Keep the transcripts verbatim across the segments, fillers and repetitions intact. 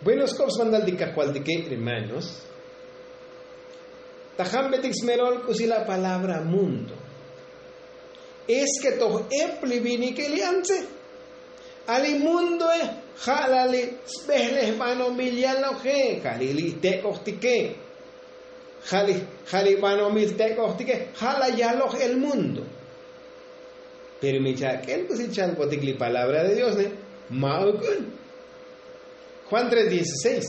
Bueno, skop smantal ti kajvaltike hermanos, ta jambetik smelol k'usi la palabra mundo. Es ke toj ep li vinike li antse. A li mundoe ja' la li sbejlejbanomil yaloje, ja' li li tek'ojtike, ja' li ja' li banomil tek'ojtike, ja' la yaloj el mundo. Pero mi chak'el k'usi chalbotik li palabra de dios ne, ma'uk un. Juan tres dieciséis.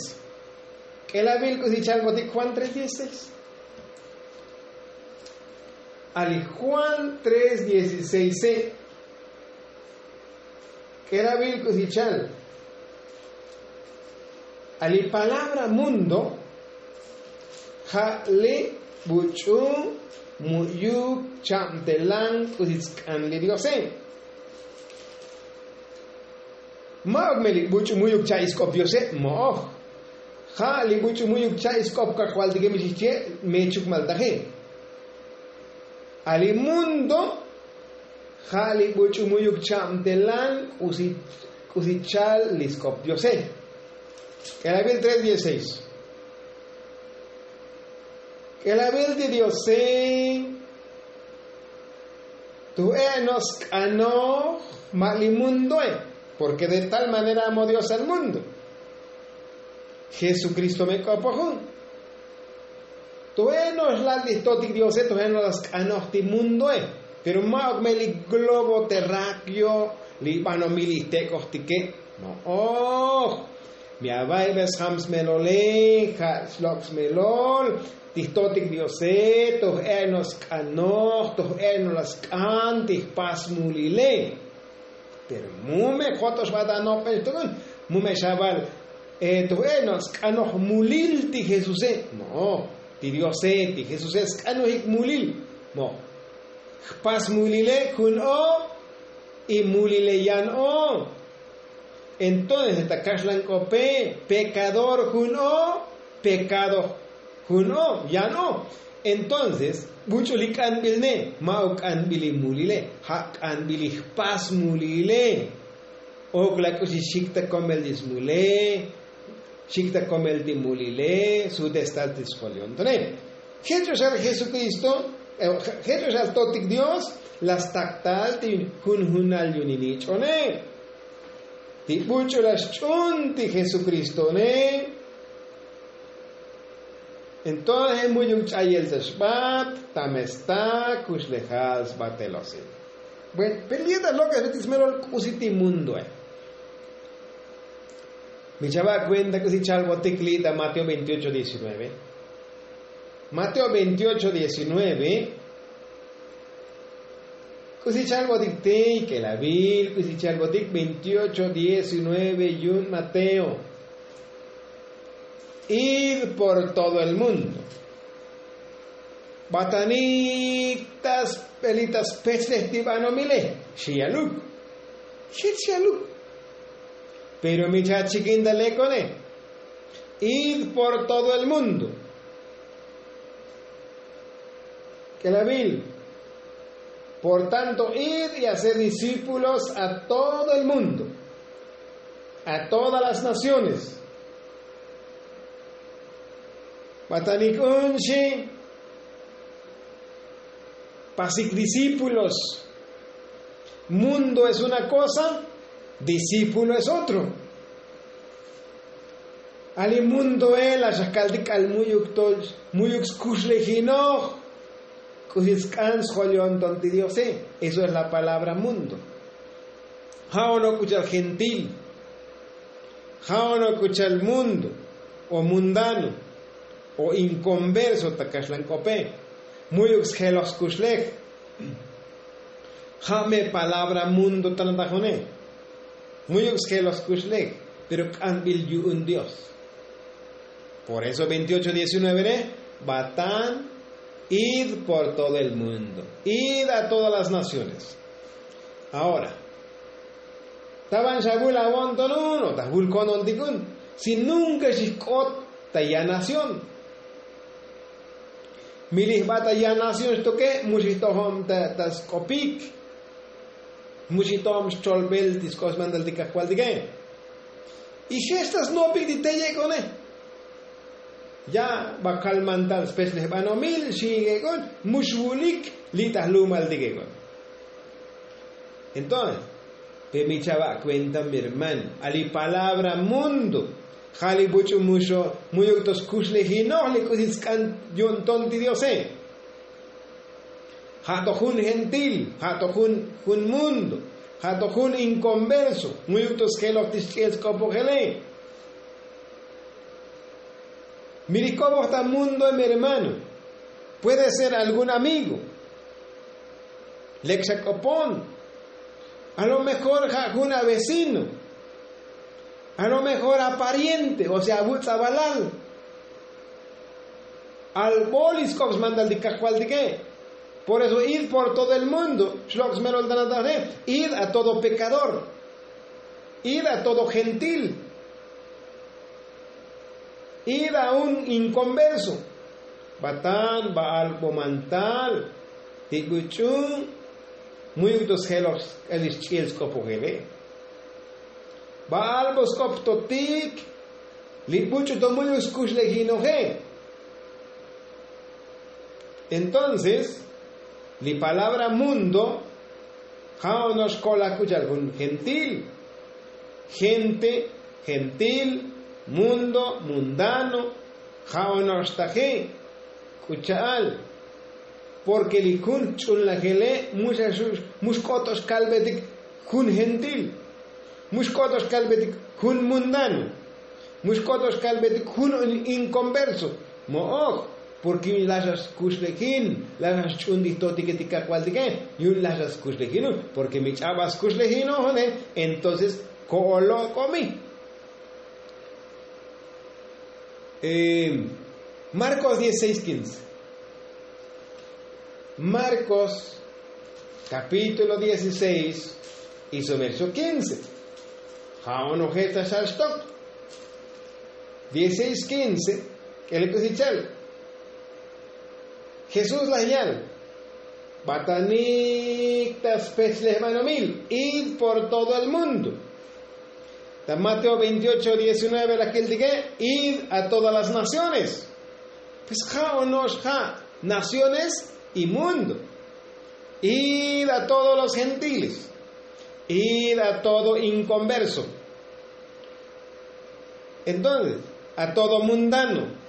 K'elabil k'usi chalbotik juan tres dieciséis. Ali juan tres dieciséis e. K'elabil k'usi chal. Ali palabra mundo ja' li buch'u mu'yuk chabtelan k'usi tsk'an li diose. Ma'uk me li buch'u mu'yuk cha' isk'op diose, mo'oj. Ja' li buch'u mu'yuk cha' isk'op kajvaltike mi chijchie, me chukmaltaje. A li mundo ja' li buch'u mu'yuk chabtelan k'usi chal li sk'op diose. K'elabil tres dieciséis. K'elabil ti diose, toj e' no' sk'anoj ma' li mundoe. Porke de tal manera amo dios al mundo, jesukristo me k'opojun. Toj e' no' xlal ti jtotik diose, toj e' no' la sk'anoj ti mundoe. Pero ma'uk me li globo terrakio, li banomil li jtek'ojtike, mo'oj. Mi ava'ibe sjam smelole, ja' xlok' smelol ti jtotik diose, toj e' no' sk'anoj, toj e' no' la sk'an ti jpas mulile. Pero mu me jot'oxbat anopel xtuk'un, mu me xaval, toj e' no' sk'anoj mulil ti jesuse, mo'oj. Ti diose, ti jesuse sk'anojik mulil, mo'oj. Jpas mulile jun o, y mulile yan o. Entonces ta kaxlan k'ope, pekador jun o, pekado jun o, yan o. Entonces buch'u li k'anbil ne, ma'uk k'anbil li mulile, ja' k'anbil li jpas mulile. Ok la k'usi xik ta komel ti smule, xik ta komel ti mulile, sutes tal ti sjolyontonej. Jech o xal jesukristo, jech o xal totik dios, la stak tal ti junjunal yu'un li nich'one. Ti buch'u la xch'un ti jesukristone. Entonces mu'yuk ch'ayel ta xbat, ta me sta kuxlejal sbatelosel. Bueno, pero li' ta lok'esbetik smelol k'usi ti mundoe. Mi chava' kuenta k'usi chalbotik li' ta mateo veintiocho diecinueve. Mateo veintiocho diecinueve. K'usi chalbotik tey k'elabil k'usi chalbotik veintiocho diecinueve yu'un mateo. Id por todo el mundo. Batanik ta spelitas pechlej ti banomile, xi yaluk. Jech xi yaluk. Pero mi chachikin ta lekone. Id por todo el mundo. K'elabil. Por tanto id y hacer discípulos a todo el mundo, a todas las naciones. Batanik un xi. Pasik discípulos. Mundo es una cosa, discípulo es otro. Ali mundoe la xa kaltik k'al mu'yuk to, mu'yuk skuxlejinoj. K'usi tsk'an sjolyonton ti diose. Eso es la palabra mundo. Ja' ono' k'u chal gentil, ja' ono' k'u chal mundo, o mundano, o inkonverso ta kaxlan k'ope. Mu'yuk sjeloj skuxlej. Ja' me palabra mundo ta natajone. Mu'yuk sjeloj skuxlej, pero k'anbil yu'un dios. Por eso veintiocho diecinueve ne, batan, id por todo el mundo, id a todas las naciones. Ahora, ta ban xa vul avonton un o ta vul konon tik un, si nunka xijk'ot ta ya nación. Mi li jba ta ya nación xtoke, mu xijtojom ta sk'opik, mu xijtojom xcholbel ti sk'op smantal ti kajvaltike. Y je' xta snopik ti teyek'one. Ya bakal mantal spech lejbanomil xi yek'on, mu xvulik li' ta jlumaltik ek'on. Entonces, pe mi chava' kuenta mi hermano, a li palabra mundo ja' li buch'u muxo, muyuk to skuxlejinoj li k'usi sk'an yu'un ton ti diose. Ja' to jun gentil, ja' to jun jun mundo, ja' to jun inkonverso, muyuk to sjeloj ti xch'iel sk'opojele. Mi li k'opoj ta mundo, mi hermano, puede ser algún amigo lek xa k'opon. A lo mejor ja' jun avecino, a lo mejor apariente, o sea avutz'avalal. Albo li sk'op smantal ti kajvaltike. Por eso id por todo el mundo, xlok' smelol tanataje. Id a todo pekador, id a todo gentil, id a un inkonverso. Batan ba'al bo mantal ti buch'u muyuk to sjeloj sk'an li xch'iel sk'opojele. Ba'al bo sk'op totik li buch'u to muyuk skuxlejinoje. Entonces li palabra mundo ja' ono'ox kolaj k'u cha'al jun gentil. Gente, gentil, mundo, mundano, ja' ono'ox taje k'u cha'al. Porke li jun ch'unlajele mu xa xu- mu xk'ot to xkalbetik jun gentil, mu xk'ot to xkalbetik jun mundano, mu xk'ot to xkalbetik jun inkonverso. Mo'oj. Porke yu'un laj xa skuxlejin, laj xa xch'un ti jtotike ti kajvaltike. Yu'un laj xa skuxlejinun, porke mi ch'abal skuxlejinojone, entonces ko'olok'omi. Marcos dieciséis quince. Marcos capítulo dieciséis y su verso quince. Ja' onoje ta xal xtok. Dieciséis quince. K'el k'usi chal. Jesús laj yal: batanik ta spech lejbanomil, id por todo el mundo. Ta Mateo veintiocho diecinueve la kiltike: id a todas las naciones. Pues ja' ono'ox ja' naciones y mundo. Id a todos los gentiles, id a todo inconverso. Entonces a todo mundano.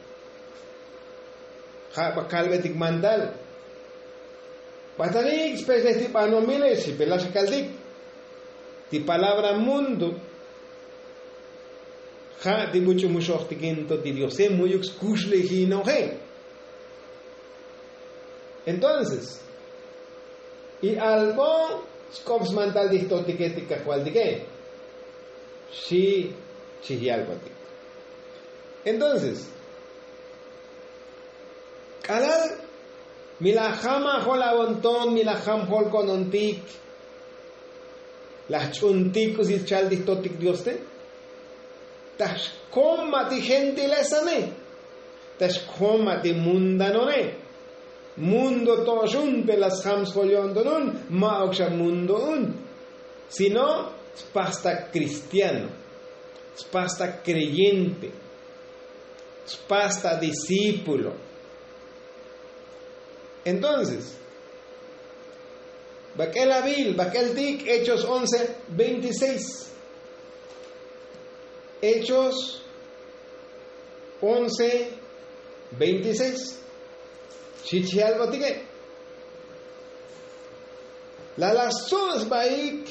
Ja' ba kalbetik mandal. Batanik spech lej ti banomile xi pe laj xa kaltik. Ti palabra mundo ja' ti buch'u muxojtikin to ti diose, muyuk skuxlejinoje. Entonces y albo sk'op smantal ti jtotike ti kajvaltike. Xi chij yalbotik. Entonces k'alal mi laj jam ajol avonton, mi laj jam jolko'nontik, laj ch'untik k'usi chal ti jtotik dioste. Ta xkom ma' ti gentilesane, ta xkom ma' ti mundanone. Mundo to'oxun te laj sjam sjol yo'ntonun, ma'uk xa mundoun, sino spasta kristiano, spasta kreyente, spasta discípulo. Entonces bak'el avil, bak'el tik hechos once veintiséis. Hechos once veintiséis. Xi chji algo tike. La laj stzu' sbaik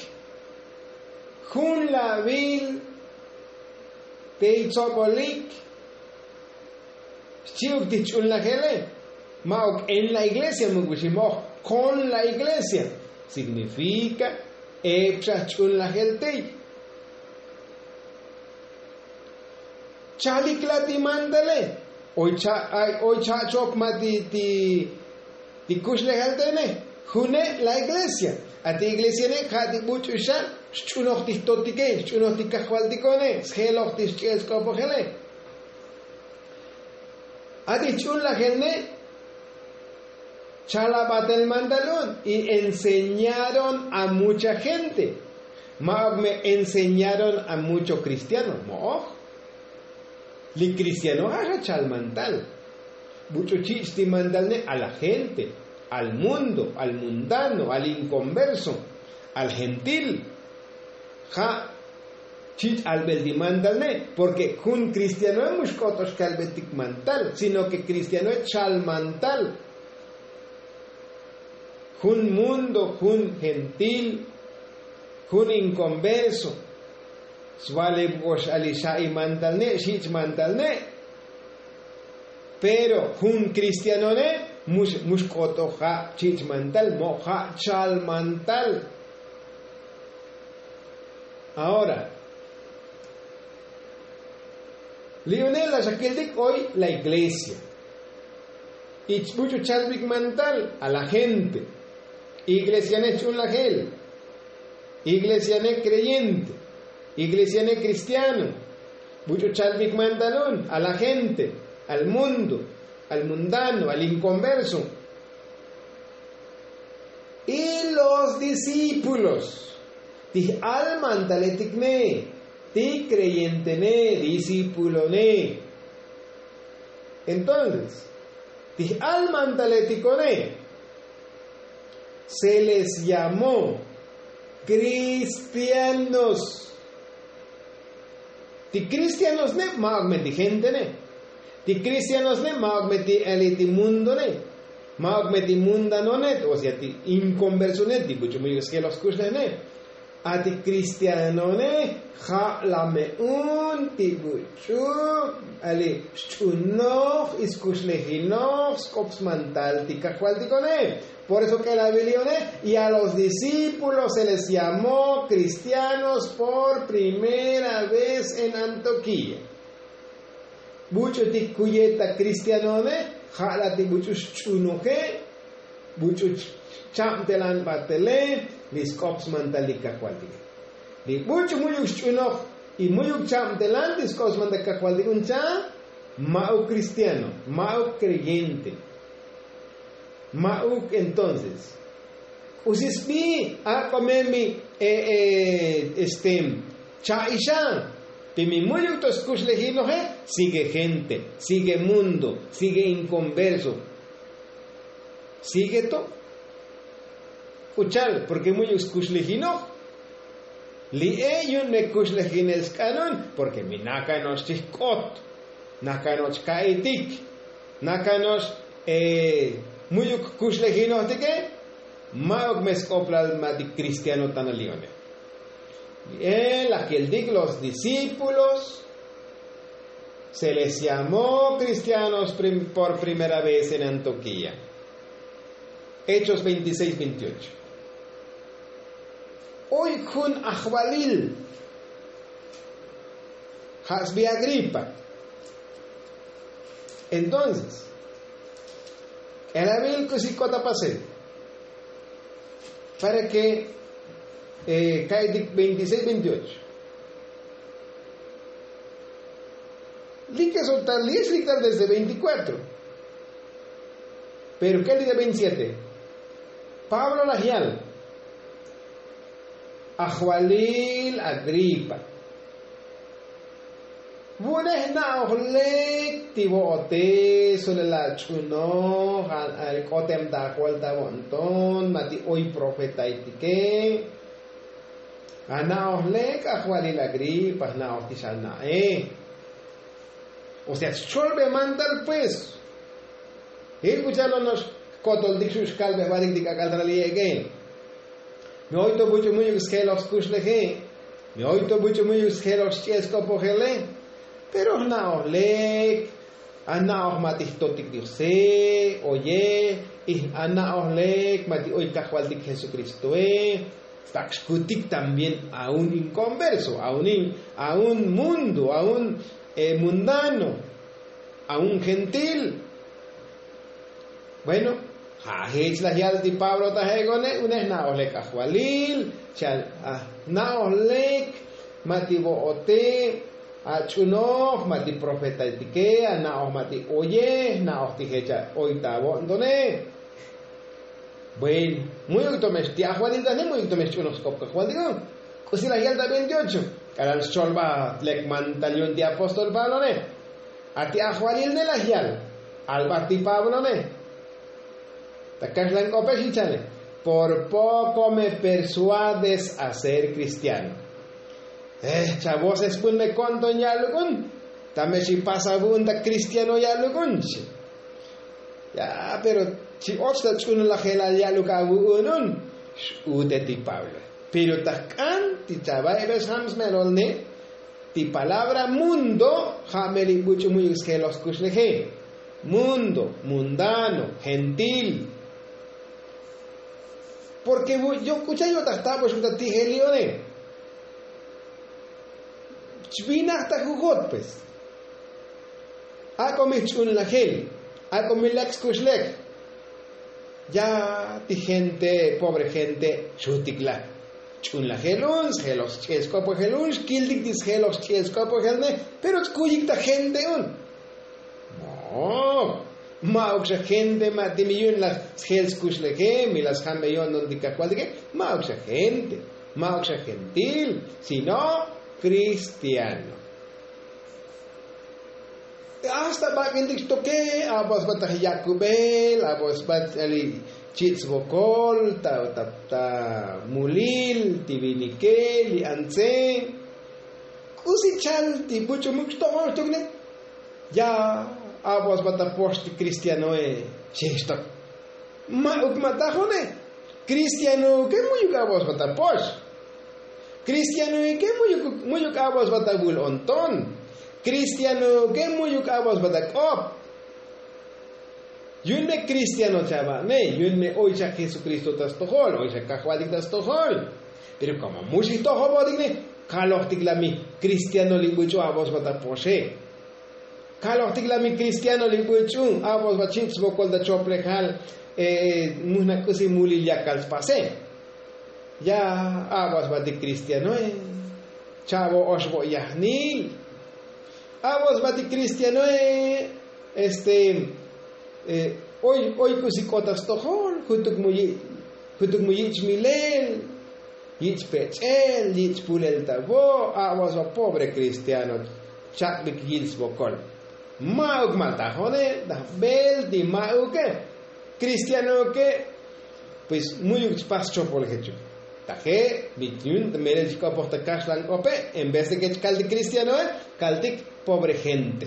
jun lavil te itzobolik. Xchi'uk ti jch'unlajele. Ma'uk en la iglesia, muk bixi mo'oj kon la iglesia. Signifika epxa jch'unlajel tey. Chalik la ti mandale. Oy cha'chop ma' ti ti kuxlejal tene. June' la iglesia. A ti iglesiane ja' ti buch'u xa xch'unoj ti jtotike, xch'unoj ti kajvaltikone, sjeloj ti xch'i'el sk'opojele. A ti jch'unlajel ne. Chalabatel mandal un y enseñaron a mucha gente. Ma'ok me enseñaron a mucho kristiano mo'oj. Li kristiano ja' ja' chal mantal. Buch'u chich' ti mantal ne a la gente, al mundo, al mundano, al inkonverso, al gentil. Ja' chich' albel ti mantal ne. Porke jun kristianoe mu xk'otox kalbetik mantal sino ke kristianoe chal mantal. Jun mundo, jun gentil, jun inkonverso. Svaleb ox ali xa'i mantal ne' xich' mantal ne'. Pero jun kristianone' mu xk'oto ja' chich' mantal mo' ja' chal mantal. Ahora li une' la xakiltik oy la iglesia. Ich buch'u chalbik mantal a la gente. Iglesiane' ch'unlajel. Iglesiane' kreyente. Iglesiane' kristiano. Buch'u chalbik mantal un a la gente, al mundo, al mundano, al inkonverso. Y los discípulos ti j'al mantaletik ne, ti kreyente ne, discípulo ne. Entonces ti j'al mantaletiko ne se les llamó kristianos. Ti kristianos ne ma'ok me ti gente ne. Ti kristianos ne ma'ok me ti ali ti mundo ne. Ma'ok me ti mundano ne, o sea ti inkonverso ne ti buch'u muyuk sjeloj skuxlej ne. A ti kristiano ne ja' la me un ti buch'u ali xch'unoj y skuxlejinoj sk'op smantal ti kajvaltiko ne. Por eso k'elabil li one y a los discípulos se les llamó kristianos por primera vez en antioquía. Buch'u ti kuye ta kristianone ja' la ti buch'u xch'unoje. Buch'u chabtelan batele li sk'op smantal li kajvaltike. Li buch'u mu'yuk xch'unoj y mu'yuk chabtelan li sk'op smantal kajvaltik un cha' ma'uk kristiano, ma'uk kreyente. Ma'uk entonces k'usi sbi ak'o me mi este cha'ixa. Ti mi mu'yuk to skuxlejinoje sigue gente, sigue mundo, sigue inkonverso. Sigue to k'u chal porke mu'yuk skuxlejinoj. Li'e yu'un me kuxlejinel sk'anun porke mi nakano'ox ti jk'ot, nakano'ox ka'itik, nakano'ox mu'yuk kuxlejinojtike. Ma'uk me sk'oplal ma' ti kristiano tanal li one. Li'e la keltik los discípulos se les llamó kristianos por primera vez en antioquía. Hechos veintiseis veintiocho. Oy jun ajvalil ja' sbi agripa. Entonces k'elabil k'usi k'ot apasel para ke ka'itik veintiseis veintiocho. Li ke soltar li es li tal desde veintikuatro. Pero ke li de veintisiete. Pablo laj yal ajvalil agripa. Vu'une jna'oj lek ti vo'ote solel ach'unoj. K'otem ta ajval ta vo'nton ma' ti oy profetaitike. Ana'oj lek ajvalil agripa jna'oj ti xana'e. O sea xcholbe mantal pues. Jil k'u cha'al ono'ox jkotoltik xu' xkalbe jvaltik ti k'ak'al ta li' ek'e. Mi oy to buch'u mu'yuk sjeloj skuxleje. Mi oy to buch'u mu'yuk sjeloj xch'el sk'opojele. Pero jna'oj lek ana'oj ma' ti jtotik diose oye. Y ana'oj lek ma' ti oy kajvaltik jesukristoe. Stak' xkutik también a un inkonverso, a un mundo, a un mundano, a un gentil. Bueno, ja' jech laj yal ti pablo ta je' k'one' une jna'oj lek ajvalil. Cha' jna'oj lek ma' ti vo'ote, ach'unoj ma' ti profetaitike, ana'oj ma' ti oye jna'oj ti jech oy ta vo'ntone. Bueno, mu'yuk to me xti ajvalil ta ne mu'yuk to me xch'unoj sk'op kajvaltiko. Usi laj yal ta veintiocho. K'alal xcholba lek mantal yu'un ti apóstol pablone. A ti ajvalil ne laj yal. Alba ti pablone. Ta kaxlan k'ope xi chale. Por poco me persuades a ser cristiano. Chavos esbun me konton ya'luk'un. Ta me xi pasa vu'un ta cristiano ya'luk'un xi. Ya pero chi och ta ch'unlajelal ya'luk avu'unun. X'ute ti pablo. Pero ta jk'an ti chava'ibes jam smelolne. Ti palabra mundo ja' me li buch'u mu'yuk sjeloj skuxleje. Mundo, mundano, gentil. Porke yo' k'ucha' yo'taj taboxuk ta ti'jel li'one. Chvinaj ta jujot pues. Ak'o mi jch'unlajel. Ak'o mi lek skuxlej. Ya ti gente pobre gente xutik la. Ch'unlajel un sjeloj sch'el sk'opojel un xkiltik ti sjeloj sch'el sk'opojel ne. Pero chkuyik ta gente un. No. Ma'uk xa gente ma' ti mi yu'un laj sjel skuxleje mi laj sjambe yo'nton ti kajvaltike. Ma'uk xa gente. Ma'uk xa gentil. Sino cristiano. Hasta bak'intik xtoke. Abo sba ta jyakubel abo sba ch'el li chich' svokol ta mulil ti vinike li antze. K'usi chal ti buch'u muk' xtojol xtok ne. Ya abo sba ta pox ti cristianoe. Xi xtok. Ma'uk ma' tajone. Cristianoke mu'yuk abo sba ta pox. Cristianoke mu'yuk abo sba ta vul onton. Cristianoke mu'yuk abo sba ta k'op. Yu'un me cristiano chava'ne yu'un me oy xa jesukristo ta stojol oy xa kajvaltik ta stojol. Pero komo mu xijtojobotik ne. Kalojtik la mi cristiano li buch'u abo sba ta poxe. Kalojtik la mi cristiano li buch'u abo sba chich' svokol ta choplejal. Mujna k'usi mulil yakal spase. Ya abo sba ti cristianoe. Chavo oxvo yajnil. Abo sba ti cristianoe. Este oy k'usi k'o ta stojol jutuk mu yich' milel, yich' pech'el yich' pulel ta vo'. Abo sba pobre cristiano. Chak'bik yil svokol. Ma'uk ma' tajone. Daj bel ti ma'uke. Cristianoke. Pues mu'yuk chpas chopol jechuk. Taje' mi yu'un melel chk'opoj ta kaxlan k'ope. En vez de ke chkaltik cristianoe, kaltik pobre gente.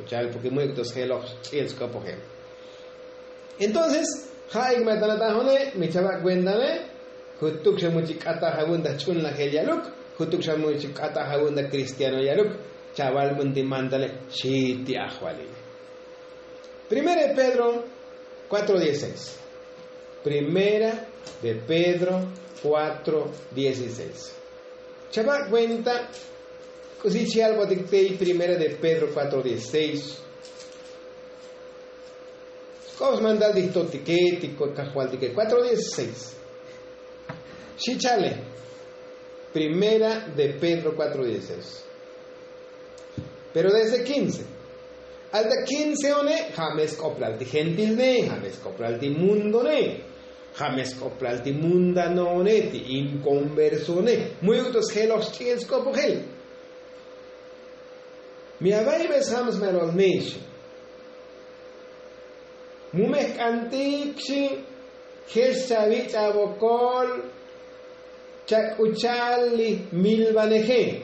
Uchal porke mu'yuk to sjeloj ch'il chk'opojel. Entonces ja'ik me ta natajone mi chava' kuentane. Jutuk xa mu chik k'ataj avu'un ta jch'unlajel ya'luk. Jutuk xa mu chik k'ataj avu'un ta cristiano ya'luk. Chaval vu'un ti mantale. Xi ti ajvalile. Primera de pedro. Cuatro dieciséis. Primera de pedro. Cuatro dieciséis. Chava' kuenta. K'usi chi albotik tey primera de pedro cuatro dieciséis. K'op smantal ti jtotike ti kajvaltike cuatro dieciséis. Xi chale. Primera de pedro cuatro dieciséis. Pero desde quince. Alta quince one ja' me sk'oplal ti gentilne ja' me sk'oplal ti mundone. Ja' me sk'oplal ti mundanoone ti inconversone. Mu'yuk to sjeloj xch'il sk'opojel. Mi ava'ibe sjam smelol nexi. Mu me jk'antik xi. Jex chavich' avokol. Chak'uchal li milvaneje.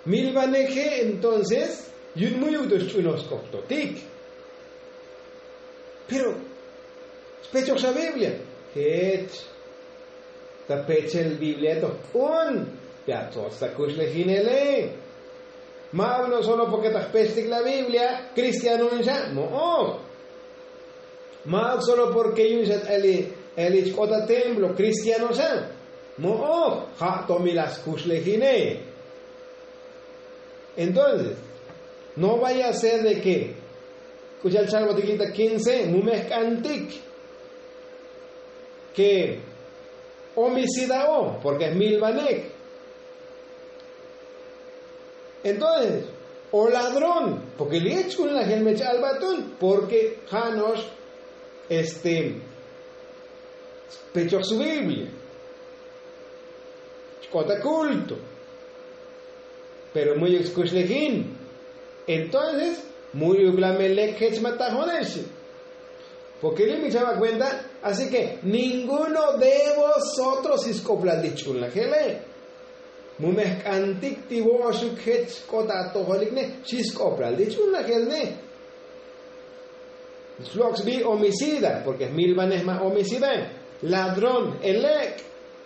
Milvaneje entonces yu'un mu'yuk to xch'unoj sk'op totik. Pero xpechoj xa biblia. Jech. Ta pechel biblia to jk'un. Pia tsots ta kuxlejinele. Ma'uk no solo porke ta jpechtik la biblia cristiano in xa mo'oj. Ma'uk solo porke yu'un xa t'eli chk'ot ta templo cristiano xa. Mo'oj ja' to mi laj skuxlejine. Entonces no vaya a ser de ke k'u cha'al chalbotik li' ta quince mu me jk'antik ke omisidao porke jmilvanej. Entonces o ladrón porke li' ch'unlajel me cha'al batun porke ja' no'ox este pechoj su biblia. K'ot ta kulto. Pero mu'yuk skuxlejin. Entonces mu'yuk la me lek jech ma tajoneb xchi. Porke li' mi chaba' kuenta. Así ke ninguno de vosotros xi sk'oplal ti jch'ulnajele. Mu me jk'antik ti vo'oxuk jech k'ot ta atojolik ne xi sk'oplal ti jch'ulnajel ne. Slok' sbi homicida porke jmilbanej ma homicida, ladrón, elek',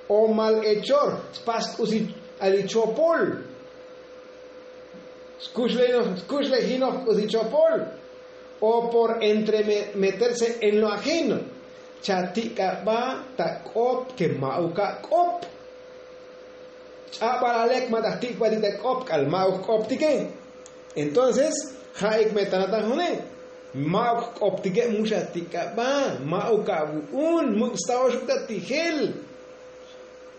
o malhechor, spas k'usi ali chopol, skuxlejinoj k'usi chopol, o por entremeterse en lo ajeno. Chatik'aba ta k'op ke ma'uk ak'op. Ch'abal alek ma ta jtik'batik ta k'op k'al ma'uk jk'optike. Entonces ja'ik me ta natajone, ma'uk jk'optike, mu xatik'aba, ma'uk avu'un, muk' staoxuk ta tijel.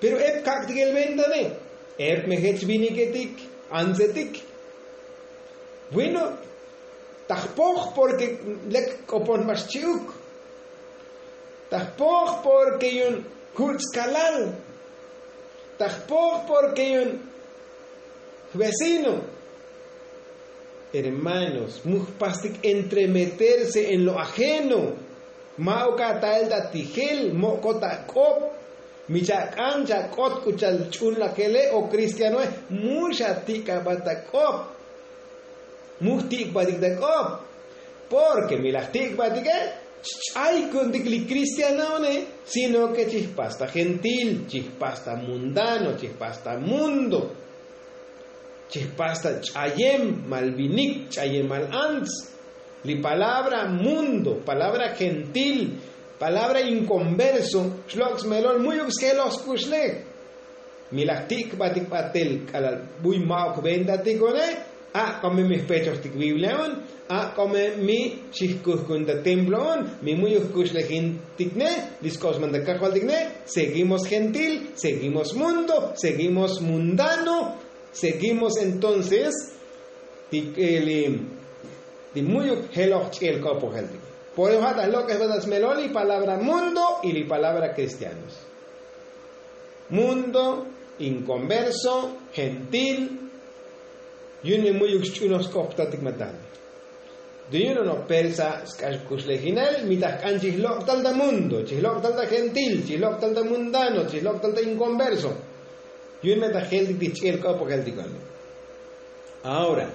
Pero ep kak'tik el ventane, ep me jech viniketik, antsetik. Bueno, ta jpoj porke lek k'opon jba xchi'uk. Ta jpoj porke yu'un juch' skalal. Ta jpoj porke yu'un jvecino. Hermanos, mu jpastik entremeterse en lo ajeno. Ma'uk atael ta tijel, mok'ot ak'op. Mi chak'an chak'ot k'u chal ch'ulnajele o kristianoe, mu xatik'abat ta k'op. Mu jtik'batik ta k'op. Porke mi laj jtik'batike, ch'ay ku'untik li kristianoone, sino ke chijpas ta gentil, chijpas ta mundano, chijpas ta mundo, chijpas ta ch'ayem mal vinik, ch'ayem mal ants. Li palabra mundo, palabra gentil, palabra inconverso, xlok' smelol mu'yuk sjeloj skuxlej. Mi laj tik'batik batel k'alal buy ma'uk ventatik one. Ak'o me mi jpechojtik biblia on, ak'o me mi xijkujkun ta templo on, mi mu'yuk jkuxlejintik ne, li sk'op smantak kajvaltik ne. Seguimos gentil, seguimos mundo, seguimos mundano, seguimos entonces ti mu'yuk jeloj ch'i'el k'opojel ti. Por eso ja' ta lok'ej ta smelol li palabra mundo y li palabra kristianos. Mundo, inconverso, gentil. Yu'un mi mu'yuk xch'unoj sk'optatik matal. Yu'un no persa sk'ax kuxlejinel mi ta jk'an chij lok'tal ta mundo, chij lok'tal ta gentil, chij lok'tal ta mundano, chij lok'tal ta inconverso. Yu'un me ta jeltik ti ch'i'el k'opojeltik. Ahora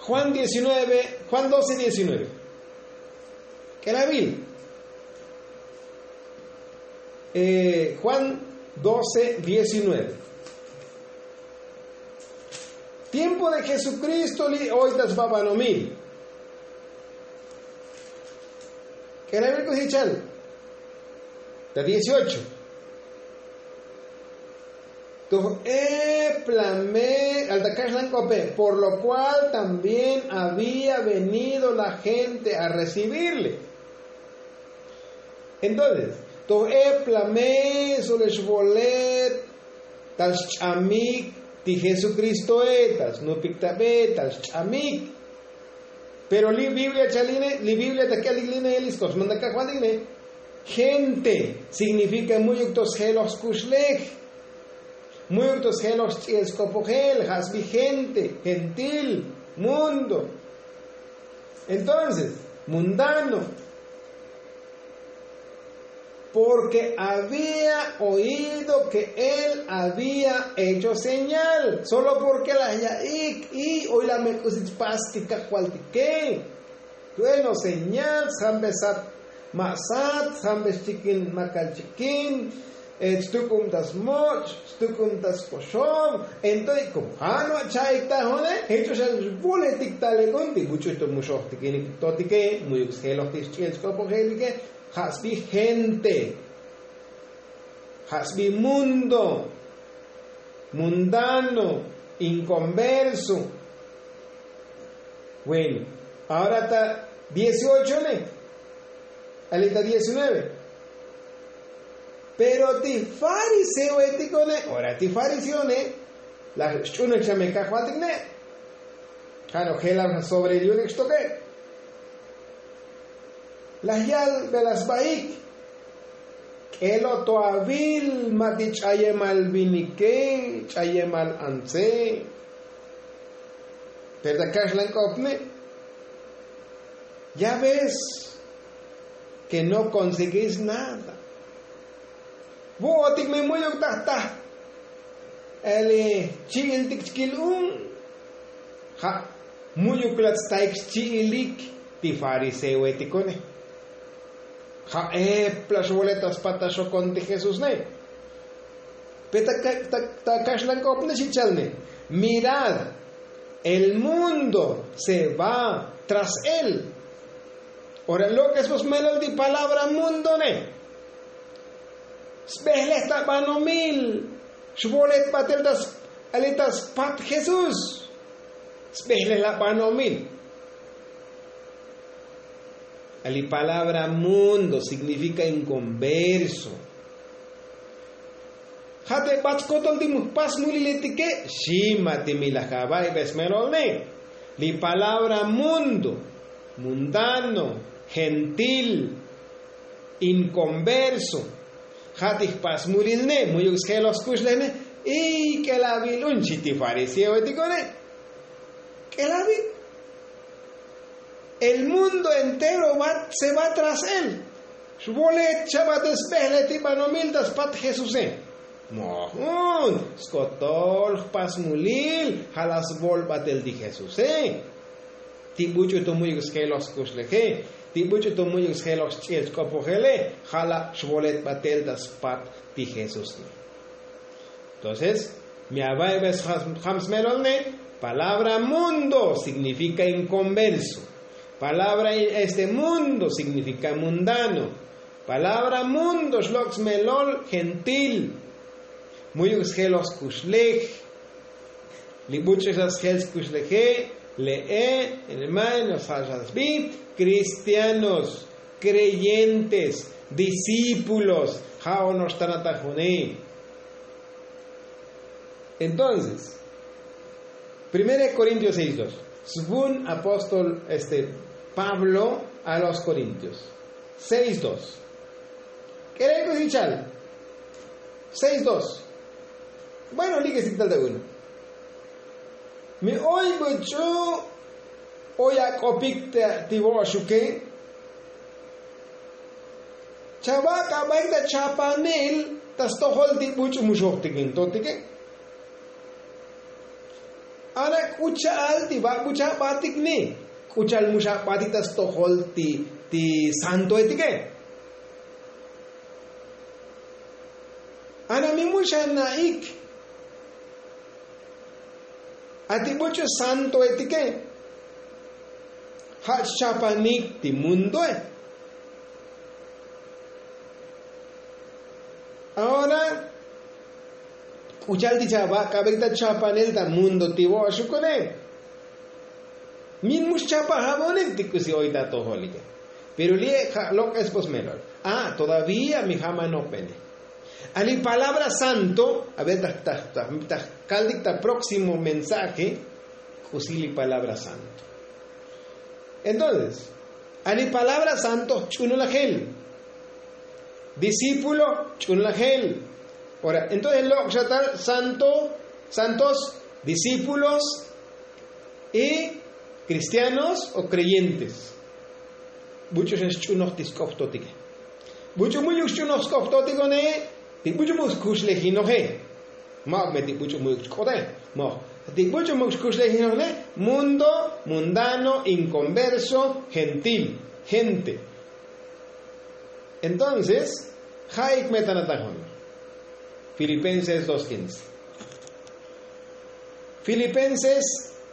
juan diecinueve, juan doce diecinueve. K'elabil. Juan doce diecinueve. Tiempo de jesukristo li' oy ta sbabanomil. K'elabil k'usi chal ta dieciocho. Toj eplame al ta kaxlan k'ope por lo kual también había venido la gente a recibirle. Entonces toj eplame solex volet tal xch'amik ti jesukristoe tal snupik tabe tal xch'amik. Pero li biblia chaline li biblia ta k'elik line li sk'op smantak kajvaltik ne. Gente signifika mu'yuk to sjeloj skuxlej. Mu'yuk to sjeloj sch'i'el sk'opojel ja' sbi gente, gentil, mundo, entonces mundano. Porke había oido ke él había hecho señal solo porke laj ya'ik y oy laj me k'usi chpas ti kajvaltike. Bueno señal sjambe sat ma' sat sjambe xchikin makal chikin, chtuk'ub ta smoch', xtuk'ub ta skoxob. Entonces komo ja' no' cha'ik tajone jech o xa xvoletik talek'un ti buch'u to muxojtikinik totike mu'yuk sjeloj ti xch'i'el sk'opojelike. Ja' sbi gente, ja' sbi mundo, mundano, inconverso. Bueno, ahora ta dieciocho ne, ali ta diecinueve. Pero ti fariseoetik one, ora ti fariseone laj xch'unej chame kajvaltik ne. Ja' no jelal ja' sobre el yu'unik xtoke. Laj yal bela sbaik. K'elo to avil ma' ti ch'ayemal vinike, ch'ayemal antse. Pero ta kaxlank'opne, ya ves ke no konseguís nada. Vu'otik me mu'yuk taj taj eli chi'iltik chkil un. Ja' mu'yuk la tstaik xchi'ilik ti fariseoetiko'ne. Ja' epla xvolet ta spat ta xokon ti jesusne. Pe ta kaxlank'opne xi chalne, mirad, el mundo se va tras él. Ora lok'es vos melol ti palabra mundone. Sbejlej ta banomil. Xvolet batel ta ali ta spat jesús. Sbejlej la banomil. Ali palabra mundo signifika inconverso. Ja' te bat skotol ti mujpas muliletike xi ma' ti mi laj ava'ibe smelolne. Li palabra mundo, mundano, gentil, inconverso. Ja' ti jpas mulilne mu'yuk sjeloj skuxlejne. Y k'elavil un chi ti fariseoetiko'ne. K'elavil. El mundo entero se va tras él. Xvolet xa batel sbejlej ti banomil ta spat jesuse. Mojun skotol jpas mulil ja' la svol batel ti jesuse. Ti buch'u to mu'yuk sjeloj skuxleje, ti buch'u to mu'yuk sjeloj xch'iel chk'opojele, ja' la xvolet batel ta spat ti jesuse. Entonces mi ava'ibe sjam smelolne. Palabra mundo signifika inconverso. Palabra este mundo signifika mundano. Palabra mundo xlok' smelol gentil. Mu'yuk sjeloj skuxlej. Li buch'u xa sjel skuxleje, le'e, hermano sja' xa sbi, kristianos, kreyentes, discípulos. Ja' ono'ox tanatajone. Entonces, primera de korintios seis dos. Svun apóstol este pablo a los korintios. Seis dos. K'elel k'usi chal. Seis dos. Bueno, lik'esik tal ta uno. Mi oy buch'u oy ak'opik ti vo'oxuke. Chavak'abaik ta chapanil ta stojol ti buch'u muxojtik intotike. Ana k'u cha'al ti vak' buchabatik ni k'u cha'al muxabatik ta stojol ti santoetike. Ana mi muxana'ik. A ti buch'u santoetike ja' chchapanik ti mundoe. Ahora k'u cha'al ti chavak'abek ta chapanel ta mundo ti vo'oxukune. Min mu xchapaj abonik ti k'usi oy ta atojolike. Pero li'e' ja' lok'es vos melol. A todavía mi ja' ma' nopene. A li palabra santo a ver ta kaltik ta próximo mensaje. K'usi li palabra santo. Entonces a li palabra santo ch'unulajel. Discípulo ch'unulajel. Ora entonces lok' xa tal santo, santos, discípulos y kristianos o kreyentes. Buch'u xa xch'unoj ti sk'op totike. Buch'u mu'yuk xch'unoj sk'op totiko'ne. Ti buch'u mu'yuk xkuxlejinoje. Ma'uk me ti buch'u mu'yuk xk'ote. Moj ti buch'u mu'yuk xkuxlejinoje. Mundo, mundano, inconverso, gentil, gente. Entonces ja'ik me tanatajun. Filipenses dos quince. Filipenses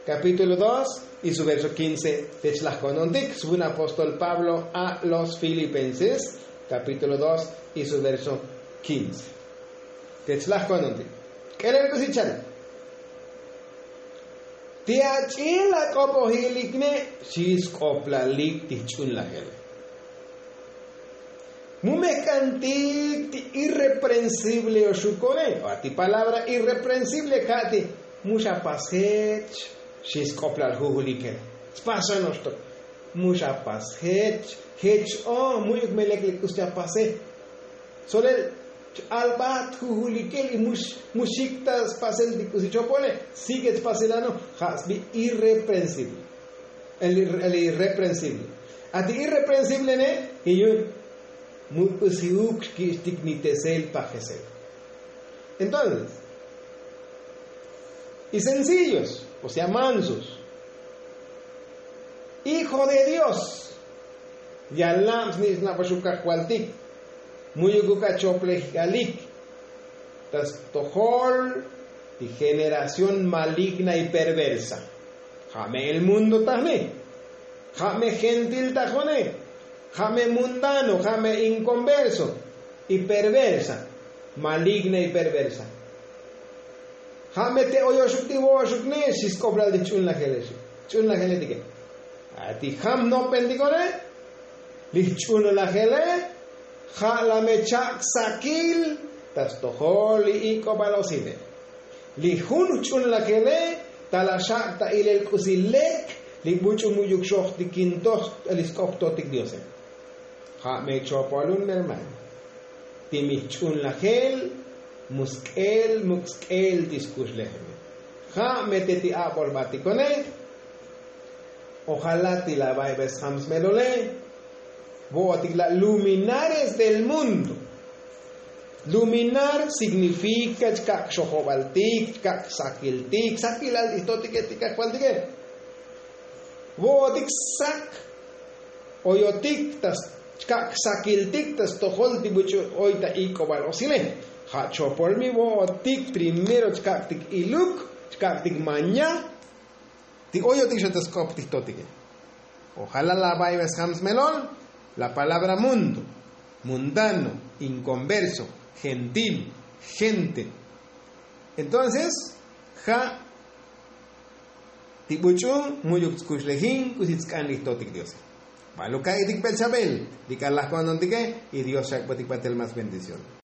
capítulo dos y su verso quince. Te chlaj ko'nontik svun apóstol pablo a los filipenses capítulo dos y su verso quince. Te chlaj ko'nontik. K'elel k'usi chal. Ti ach'il ak'opojilik ne xi sk'oplalik ti jch'unlajele. Mu mejk'antik ti irreprensible oxukone. Ti palabra irreprensible ka' ti mu xapas jech. Xi sk'oplal jujulikele. Spas xa noxtok. Mu xapas jech. Jech o mu'yuk me lek li k'us chapase. Solel ch-albat jujulikel y mux muxik ta spasel ti k'usi chopole. Sigue spasel ano. Ja' sbi irreprensible. El irreprensible. Ati irreprensible ne y yun mu k'usi uk xkich'tik ni tesel pajesel. Entonces y sencillos, o sea mansos, hijo de dios. Yalab sni' snabaxuk kajvaltik muyuk uk achoplejk'alik ta stojol ti generación maligna y perversa. Ja' me el mundo tajne. Ja' me gentil tajone. Ja' me mundano ja' me inconverso y perversa. Maligna y perversa. Ja' me te oyoxuk ti vo'oxuk ne xi sk'oplal ti jch'unlajele xi jch'unlajeletike. Ati jam jnopentiko'ne li jch'unlajele ja' la me chak' sakil ta stojol li ik'obal osile. Li jun jch'unlajele ta la xak' ta ilel k'usi lek li buch'u mu'yuk xojtikintoj li sk'optotik diose. Ja' me chopolun hermano. Ti mi jch'unlajel mu sk'el muk' sk'el ti skuxlejele. Ja' me te ti a'bolbatiko'ne. Ojalá ti la baybesjam smelole. Vo'otik la' luminares del mundo. Luminar signifika chkak' xojobaltik chkak' sakiltik sakilal ti jtotike ti kajvaltike. Vo'otik sak oyotik ta chkak' sakiltik ta stojol ti buch'u oy ta ik'obal osile. Ja' chopol mi vo'otik primero chkak'tik iluk chkak'tik maña. Ti oyotik xa ta sk'op ti jtotike. Ojalá la baybesjam smelol la palabra mundo, mundano, inconverso, gentil, gente. Entonces ja' ti buch'u mu'yuk tskuxlejin k'usi tsk'an li jtotik diose. Ba'al uka'itik p'el chabel li k'alaj ko'ntontike. Y dios xak'botik batel más bendición.